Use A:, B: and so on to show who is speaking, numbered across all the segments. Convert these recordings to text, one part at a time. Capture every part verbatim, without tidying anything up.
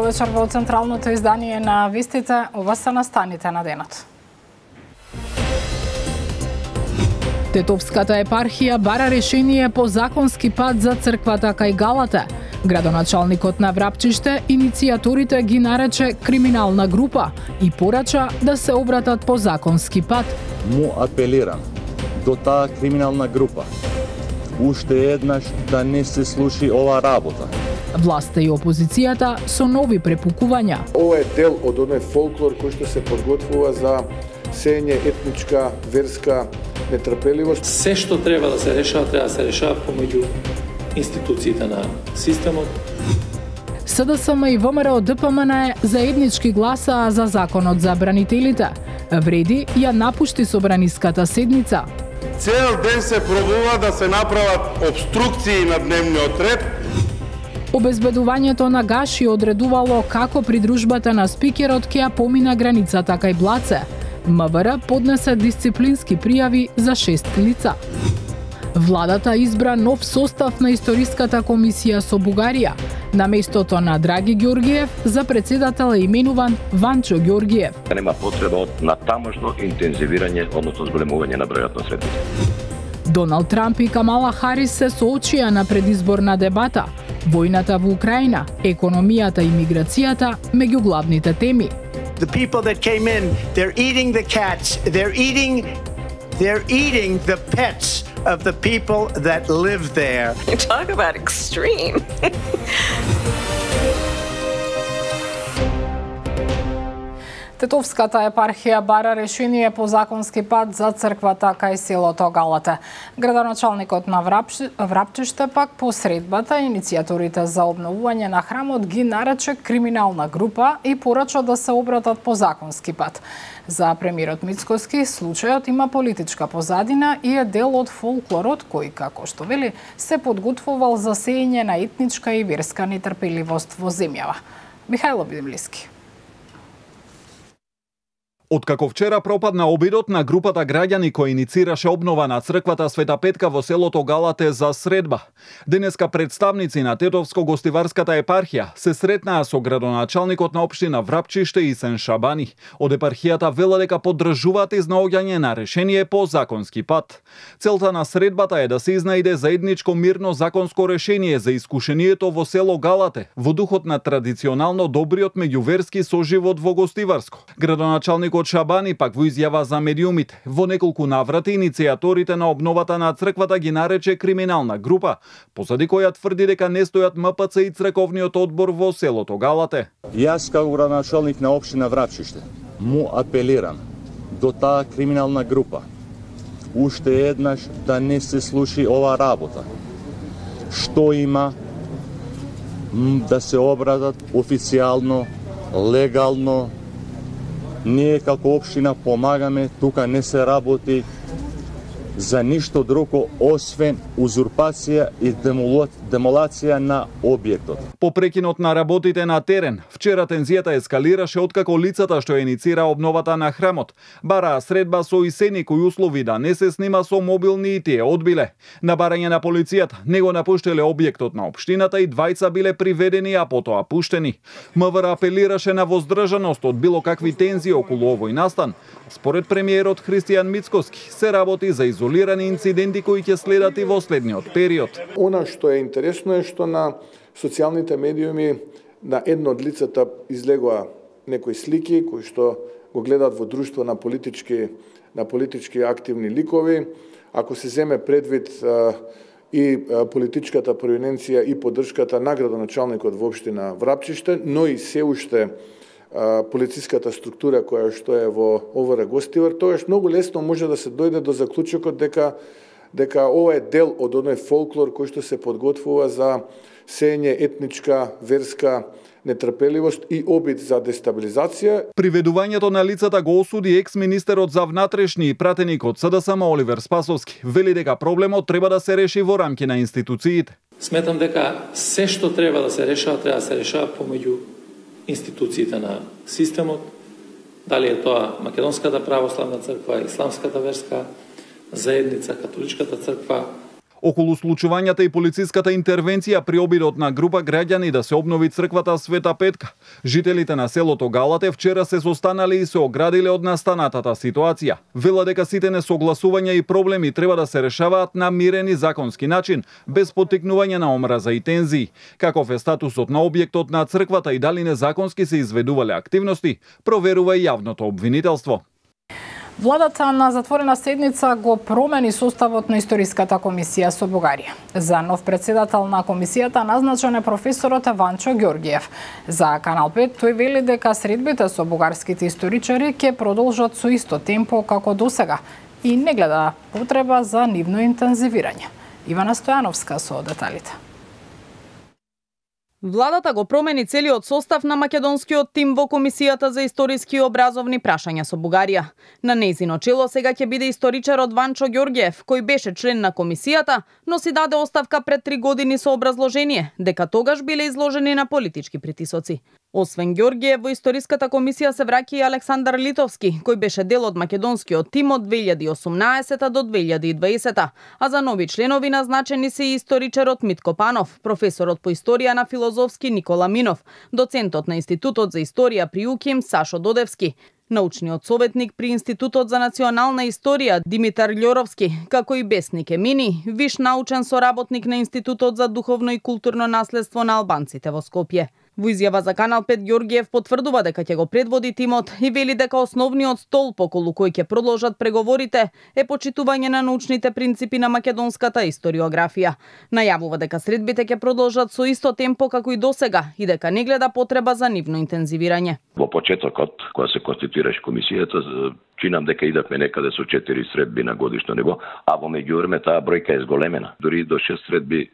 A: вечер во централното издание на Вистите. Ова се настаните на денот. Тетовската епархија бара решение по законски пат за црквата кај Галате. Градоначалникот на Врапчиште иницијаторите ги нарече криминална група и порача да се обратат по законски пат.
B: Му апелирам до таа криминална група уште еднаш да не се слуши ова работа.
A: Власта и опозицијата со нови препукувања.
C: Ова е дел од оној фолклор кој што се подготвува за сење етничка, верска нетрпеливост.
D: Се што треба да се решава, треба да се решава помеѓу институциите на системот.
A: СДСМ и ВМРО ДПМН заеднички гласаа за законот за бранителите. Вреди ја напушти собраниската седница.
E: Цел ден се пробува да се направат обструкции на дневниот ред.
A: Обезбедувањето на гаши одредувало како придружбата на спикерот ќе ја помина границата кај Блаце. МВР поднесе дисциплински пријави за шест лица. Владата избра нов состав на историската комисија со Бугарија. На местото на Драги Ѓоргиев за председател е именуван Ванчо Ѓоргиев.
F: Нема потреба од натамошно интензивирање, односно зголемување на бројот на седници.
A: Доналд Трамп и Камала Харис се соочија на предизборна дебата. Војната во Украина, економијата и миграцијата меѓу главните теми.
G: The people that came in, they're eating the cats, they're eating they're eating the pets of the people that live there.
H: You talk about extreme.
A: Тетовската епархија бара решение по законски пат за црквата кај селото Галате. Градоначалникот на Врапчиште пак по средбата иницијаторите за обновување на храмот ги нарече криминална група и порача да се обратат по законски пат. За премиерот Мицкоски случајот има политичка позадина и е дел од фолклорот кој, како што вели, се подготвувал за сеење на етничка и верска нетрпеливост во земјава. Михајло Бидемлиски.
I: Откако вчера пропадна обидот на групата граѓани кои иницираше обнова на црквата Света Петка во селото Галате за средба, денеска представници на Тетовско-гостиварската епархија се сретнаа со градоначалникот на општина Врапчиште и Сен Шабани. Од епархијата вела дека поддржуваат изнаоѓање на решение по законски пат. Целта на средбата е да се изнајде заедничко мирно законско решение за искушението во село Галате, во духот на традиционално добриот меѓуверски соживот во Гостиварско. Градоначалникот Шабани пак во изјава за медиумите во неколку наврати иницијаторите на обновата на црквата ги нарече криминална група, позади која тврди дека не стојат МПЦ и црковниот одбор во селото Галате.
B: Јас како градоначалник на општина Врапчиште му апелирам до таа криминална група уште еднаш да не се слуши ова работа. Што има да се обратат официјално, легално. Ние како општина помагаме, тука не се работи за ништо друго освен узурпација и демолација на објектот.
I: По прекинот на работите на терен, вчера тензијата ескалираше откако лицата што иницира обновата на храмот бараа средба со Исени кои услови да не се снима со мобилни и тие одбиле. На барање на полицијата не го напуштеле објектот на општината и двајца биле приведени, а потоа пуштени. МВР апелираше на воздржаност од било какви тензии околу овој настан. Според премиерот Христијан Мицкоски се работи за изолирани инциденти кои ќе следат и во следниот период.
C: Она што е интересно е што на социјалните медиуми на едно од лицата излегоа некои слики кои што го гледаат во друштво на политички на политички активни ликови. Ако се земе предвид а, и а, политичката провиненција и поддршката на градоначалникот во општина Врапчиште, но и се уште полициската структура која што е во ОВР Гостивар, тогаш многу лесно може да се дојде до заклучокот дека дека ова е дел од оној фолклор кој што се подготвува за сење етничка, верска нетрпеливост и обид за дестабилизација.
I: Приведувањето на лицата го осуди екс-министерот за внатрешни и пратеник од СДСМ Оливер Спасовски. Вели дека проблемот треба да се реши во рамки на институциите.
D: Сметам дека се што треба да се решава, треба да се решава помеѓу институциите на системот, дали е тоа Македонската православна црква, Исламската верска заедница, Католичката црква.
I: Околу случувањата и полициската интервенција при обидот на група граѓани да се обнови црквата Света Петка, жителите на селото Галате вчера се состанале и се оградиле од настанатата ситуација. Вела дека сите несогласувања и проблеми треба да се решаваат на мирен и законски начин, без поттикнување на омраза и тензии. Каков е статусот на објектот на црквата и дали незаконски се изведувале активности, проверува и јавното обвинителство.
A: Владата на затворена седница го промени составот на Историската комисија со Бугарија. За нов председател на комисијата назначен е професорот Ванчо Ѓоргиев. За Канал пет тој вели дека средбите со бугарските историчари ќе продолжат со исто темпо како досега и не гледа потреба за нивно интензивирање. Ивана Стојановска со деталите.
J: Владата го промени целиот состав на македонскиот тим во Комисијата за историски и образовни прашања со Бугарија. На нејзино чело сега ќе биде историчарот Ванчо Ѓоргиев, кој беше член на комисијата, но си даде оставка пред три години со образложение дека тогаш биле изложени на политички притисоци. Освен Ѓоргиев, во Историската комисија се враќа и Александар Литовски, кој беше дел од македонскиот тим од две илјади и осумнаесета до две илјади и дваесета, а за нови членови назначени се и историчарот Митко Панов, професорот по историја на Филозофски Никола Минов, доцентот на Институтот за историја при УКИМ Сашо Додевски, научниот советник при Институтот за национална историја Димитар Љоровски, како и Бесник Емини, виш научен соработник на Институтот за духовно и културно наследство на албанците во Скопје. Во изјава за Канал пет Ѓоргиев потврдува дека ќе го предводи тимот и вели дека основниот столб околу кој ќе продолжат преговорите е почитување на научните принципи на македонската историографија. Најавува дека средбите ќе продолжат со исто темпо како и досега и дека не гледа потреба за нивно интензивирање.
F: Во почетокот, кога се конституираше комисијата, чинам дека идавме некаде со четири средби на годишно ниво, а во меѓувреме таа бројка е зголемена, дури до шест средби е,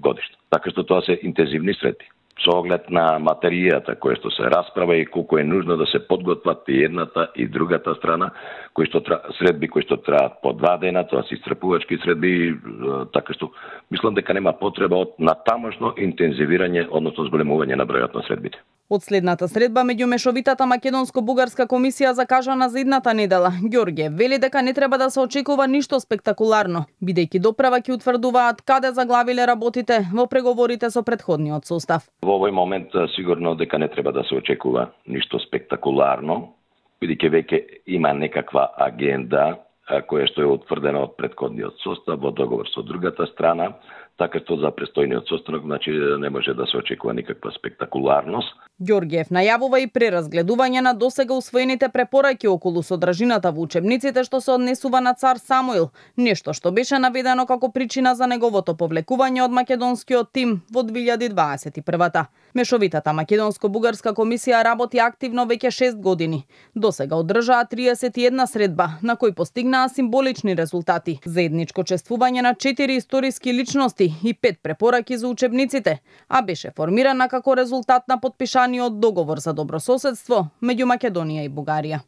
F: годишно. Така што тоа се интензивни средби. Со оглед на материјата која што се расправа и колку е нужно да се подготват и едната и другата страна, кои што тра... средби кои што траат по два дена, тоа се исцрпувачки средби, така што мислам дека нема потреба од натамошно интензивирање, односно зголемување на бројот на средбите.
J: Од следната средба меѓу мешовитата македонско-бугарска комисија закажана за идната недела, Ѓоргиев вели дека не треба да се очекува ништо спектакуларно, бидејќи доправа ќе утврдуваат каде заглавиле работите во преговорите со претходниот состав.
F: Во овој момент сигурно дека не треба да се очекува ништо спектакуларно, бидејќи веќе има некаква агенда која што е утврдена од претходниот состав во договор со другата страна, така што за престојниот состанок, значи не може да се очекува никаква спектакуларност.
J: Ѓоргиев најавува и преразгледување на досега усвоените препораки околу содржината во учебниците што се однесува на цар Самуил, нешто што беше наведено како причина за неговото повлекување од македонскиот тим во две илјади дваесет и прва. Мешовитата македонско-бугарска комисија работи активно веќе шест години. Досега одржаа триесет и една средба, на кои постигнаа символични резултати. Заедничко чествување на четири историски личности и пет препораки за учебниците, а беше формирана како резултат на подпишаниот договор за добрососедство меѓу Македонија и Бугарија.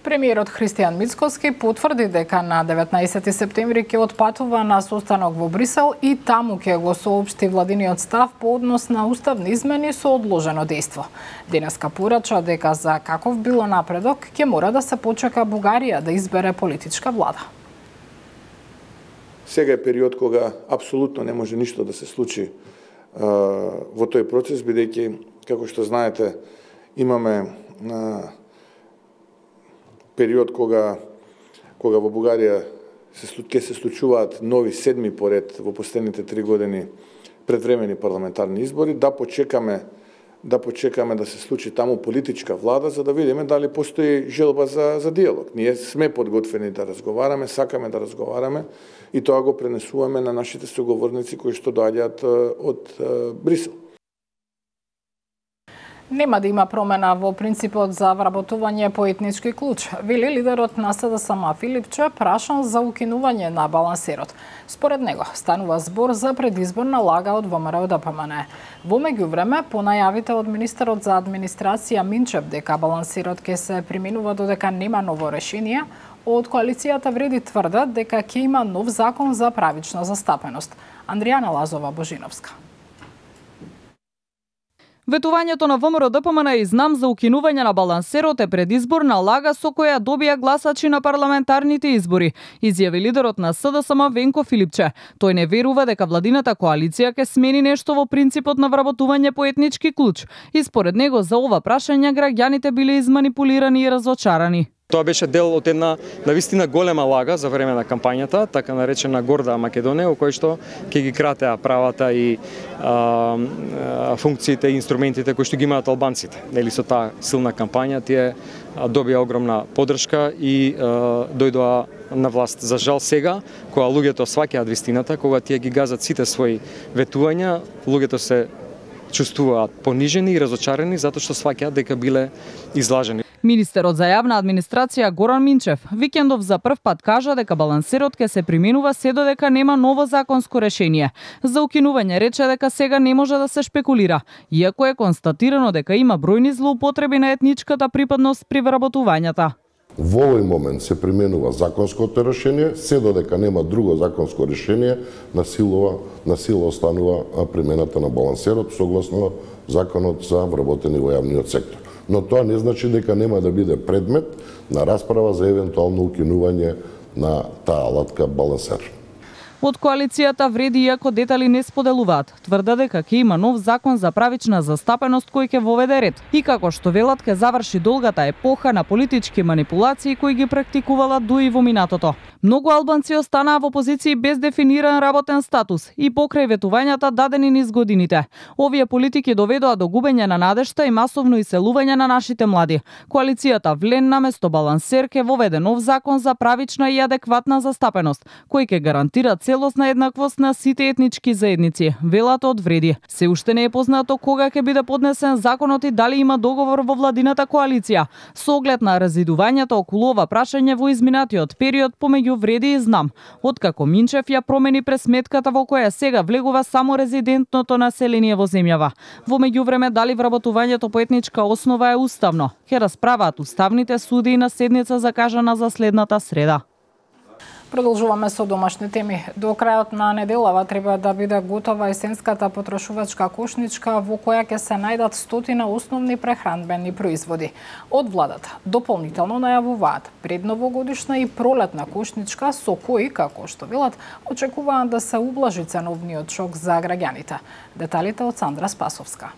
A: Премиерот Христијан Мицкоски потврди дека на деветнаесети септември ќе отпатува на состанок во Брисел и таму ќе го соопшти владиниот став по однос на уставни измени со одложено дејство. Денеска порача дека за каков било напредок ќе мора да се почека Бугарија да избере политичка влада.
C: Сега е период кога апсолутно не може ништо да се случи а, во тој процес, бидејќи, како што знаете, имаме а, период кога кога во Бугарија се ќе се случуваат нови седми поред во последните три години предвремени парламентарни избори, да почекаме да почекаме да се случи таму политичка влада, за да видиме дали постои желба за за диалог. Ние сме подготвени да разговараме, сакаме да разговараме и тоа го пренесуваме на нашите соговорници кои што доаѓаат од Брисел.
A: Нема да има промена во принципот за вработување по етнички клуч, вели лидерот на СДСМ Филипче, прашан за укинување на балансерот. Според него станува збор за предизборна лага од ВМРО Д П М Н. Во меѓувреме, по најавите од министерот за администрација Минчев дека балансерот ќе се применува додека нема ново решение, од коалицијата вреди тврдат дека ќе има нов закон за правична застапеност. Андријана Лазова Божиновска.
J: Ветувањето на ВМРО-ДПМН и знам за укинување на балансерот е предизборна лага со која добија гласачи на парламентарните избори, изјави лидерот на СДСМ Венко Филипче. Тој не верува дека владината коалиција ќе смени нешто во принципот на вработување по етнички клуч и според него за ова прашање граѓаните биле изманипулирани и разочарани.
K: Тоа беше дел од една навистина голема лага за време на кампањата, така наречена Горда Македонија, во кој што ќе ги кратеа правата и а, функциите и инструментите кои што ги имаат албанците. Нели со таа силна кампања тие добија огромна поддршка и а, дојдоа на власт. За жал сега, кога луѓето сваќаат вистината, кога тие ги газат сите своји ветувања, луѓето се чувствуваат понижени и разочарени затоа што сваќаат дека биле излажени.
J: Министерот за јавна администрација Горан Минчев викендов за прв пат кажа дека балансерот ќе се применува се додека нема ново законско решение. За укинување рече дека сега не може да се шпекулира, иако е констатирано дека има бројни злоупотреби на етничката припадност при вработувањата.
L: Во овој момент се применува законското решение, се додека нема друго законско решение, на сила, на сила останува примената на балансерот согласно законот за вработени во јавниот сектор. Но тоа не значи дека нема да биде предмет на расправа за евентуално укинување на таа алатка балансер.
J: Од коалицијата вреди иако детали не споделуваат. Тврда дека ќе има нов закон за правична застапеност кој ќе воведе ред и како што велат ќе заврши долгата епоха на политички манипулации кои ги практикувала дуи во минатото. Многу албанци останаа во позиции без дефиниран работен статус и покрај ветувањата дадени низ годините. Овие политики доведоа до губење на надежта и масовно иселување на нашите млади. Коалицијата Влен наместо балансер ќе воведе нов закон за правична и адекватна застапеност, кој ќе гарантира целосна еднаквост на сите етнички заедници, велат од вреди. Се уште не е познато кога ќе биде поднесен законот и дали има договор во владината коалиција. Со оглед на разидувањето околу ова прашање во изминатиот период помеѓу вреди и знам, откако Минчев ја промени пресметката во која сега влегува само резидентното население во земјава. Во меѓувреме дали вработувањето по етничка основа е уставно, ќе расправаат уставните суди на седница закажана за следната среда.
A: Продолжуваме со домашни теми. До крајот на неделава треба да биде готова есенската потрошувачка кошничка во која ќе се најдат стотина основни прехранбени производи. Од владата дополнително најавуваат предновогодишна и пролетна кошничка со кои, како што велат, очекуваат да се ублажи ценовниот шок за граѓаните. Деталите од Сандра Спасовска.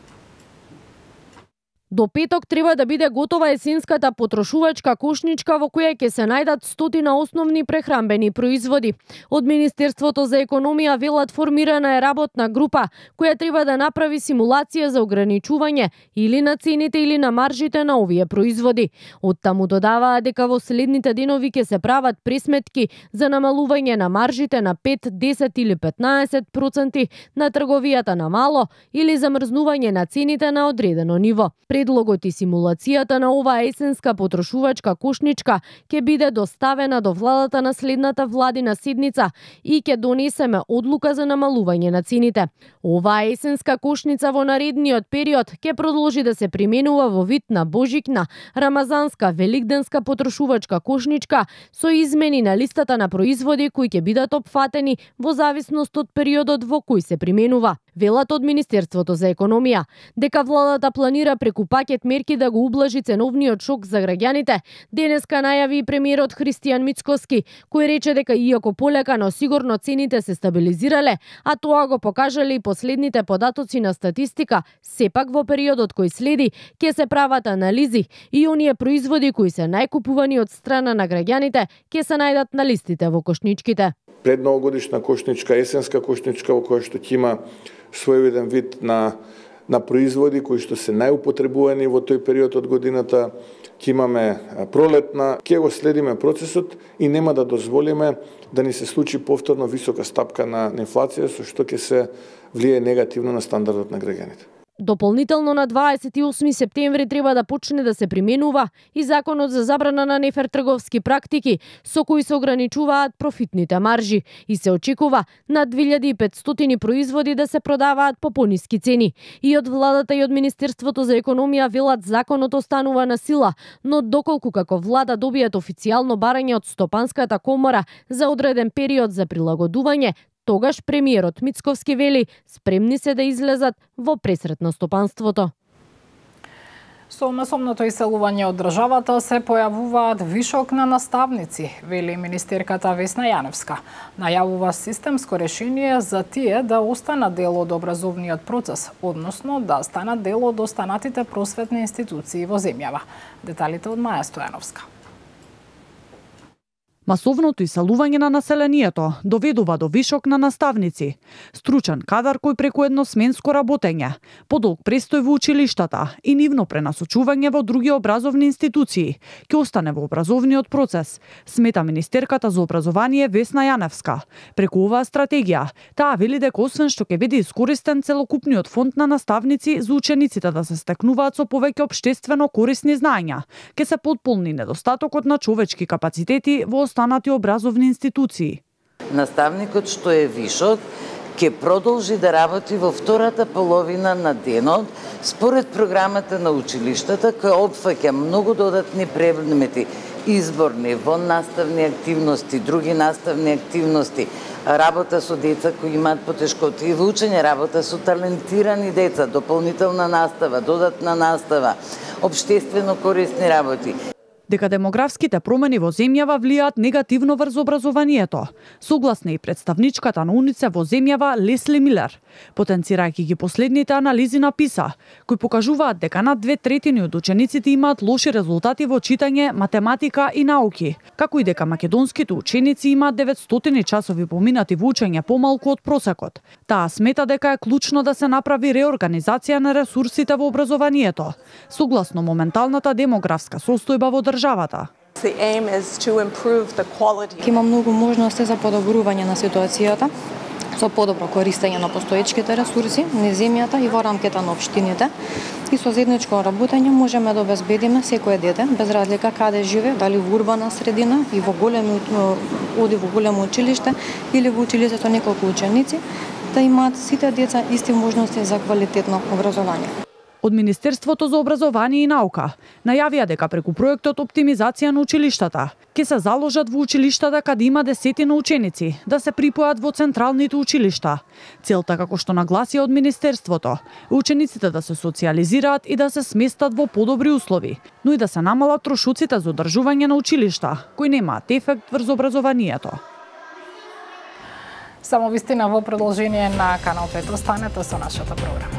M: До петок треба да биде готова есенската потрошувачка кошничка во која ќе се најдат стотина основни прехранбени производи. Од Министерството за економија велат формирана е работна група која треба да направи симулација за ограничување или на цените или на маржите на овие производи. Од таму додаваа дека во следните денови ќе се прават пресметки за намалување на маржите на пет, десет или петнаесет проценти на трговијата на мало или замрзнување на цените на одредено ниво. Предлогот и симулацијата на оваа есенска потрошувачка кошничка ќе биде доставена до владата на следната владина седница и ќе донесеме одлука за намалување на цените. Оваа есенска кошница во наредниот период ќе продолжи да се применува во вид на божикна, рамазанска, великденска потрошувачка кошничка со измени на листата на производи кои ќе бидат опфатени во зависност од периодот во кој се применува. Велат од Министерството за економија дека владата планира преку пакет мерки да го ублажи ценовниот шок за граѓаните. Денеска најави и премиерот Христијан Мицкоски, кој рече дека иако полека, но сигурно цените се стабилизирале, а тоа го покажале и последните податоци на статистика, сепак во периодот кој следи ќе се прават анализи и оние производи кои се најкупувани од страна на граѓаните ќе се најдат на листите во кошничките.
C: Предновогодишна кошничка, есенска кошничка во која што ќе има своевиден вид на на производи кои што се најупотребувани во тој период од годината, ќе имаме пролетна, ќе го следиме процесот и нема да дозволиме да ни се случи повторно висока стапка на инфлација со што ќе се влие негативно на стандардот на граѓаните.
M: Дополнително на дваесет и осми септември треба да почне да се применува и законот за забрана на нефер трговски практики со кои се ограничуваат профитните маржи и се очекува над две илјади и петстотини производи да се продаваат по пониски цени. И од владата и од Министерството за економија велат законот останува на сила, но доколку како влада добијат официјално барање од Стопанската комора за одреден период за прилагодување, тогаш премиерот Мицковски вели спремни се да излезат во пресрет на стопанството.
A: Со масовното иселување од државата се појавуваат вишок на наставници, вели министерката Весна Јаневска. Најавува системско решение за тие да останат дел од образовниот процес, односно да станат дел од останатите просветни институции во земјава. Деталите од Маја Стојановска.
N: Масовното иселување на населението доведува до вишок на наставници, стручен кадар кој преку едносменско работење, подолг престој во училиштата и нивно пренасочување во други образовни институции ќе остане во образовниот процес, смета министерката за образование Весна Јаневска. Преку оваа стратегија, таа вели дека освен што ќе биде искористен целокупниот фонд на наставници за учениците да се стекнуваат со повеќе општествено корисни знаења, ќе се потполни недостатокот на човечки капацитети во останати образовни институции.
O: Наставникот што е вишок ќе продолжи да работи во втората половина на денот според програмата на училиштата која опфаќа многу додатни предмети, изборни, воннаставни активности, други наставни активности, работа со деца кои имаат потешкоти во учење, работа со талентирани деца, дополнителна настава, додатна настава, општествено корисни работи.
N: Дека демографските промени во земјава влијаат негативно врз образованието, согласна и представничката на УНИЦЕФ во земјава Лесли Милер, потенцирајќи ги последните анализи на ПИСА, кои покажуваат дека над две третини од учениците имаат лоши резултати во читање, математика и науки, како и дека македонските ученици имаат деветстотини часови поминати во учење помалку од просекот. Таа смета дека е клучно да се направи реорганизација на ресурсите во образованието, согласно моменталната демографска состојба во државата.
P: Има многу можности за подобрување на ситуацијата со подобро користење на постоечките ресурси на земјата и во рамките на општините. И со заедничко работење можеме да обезбедиме секое дете, без разлика каде живее, дали во урбана средина и во големи оди во големо училиште или во училиште со неколку ученици, да имаат сите деца исти можности за квалитетно образование.
N: Од Министерството за образование и наука најавија дека преку проектот Оптимизација на училиштата ќе се заложат во училиштата каде има десетина ученици да се припојат во централните училишта. Целта, како што нагласија од Министерството, учениците да се социализираат и да се сместат во подобри услови, но и да се намалат трошоците за одржување на училишта, кои немаат ефект врз образованието.
A: Само вистина во продолжение на Канал пет. Останете со нашата програма.